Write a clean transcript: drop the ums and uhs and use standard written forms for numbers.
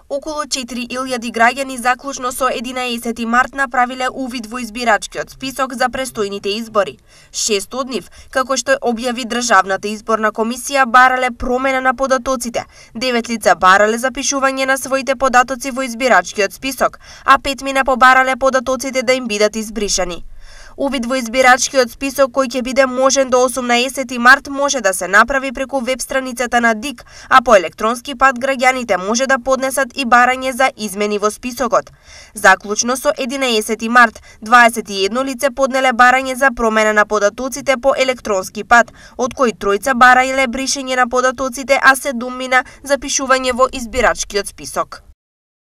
Околу 4000 граѓани заклучно со 11 март направиле увид во избирачкиот список за престојните избори. 6 од нив, како што објави Државната изборна комисија, барале промена на податоците. 9 лица барале запишување на своите податоци во избирачкиот список, а 5 мина побарале податоците да им бидат избришани. Увид во избирачкиот список кој ќе биде можен до 18 март може да се направи преку веб страницата на ДИК, а по електронски пат граѓаните може да поднесат и барање за измени во списокот. Заклучно со 11 март, 21 лице поднеле барање за промена на податоците по електронски пат, од кои тројца барајле бришење на податоците, а 7 мина запишување во избирачкиот список.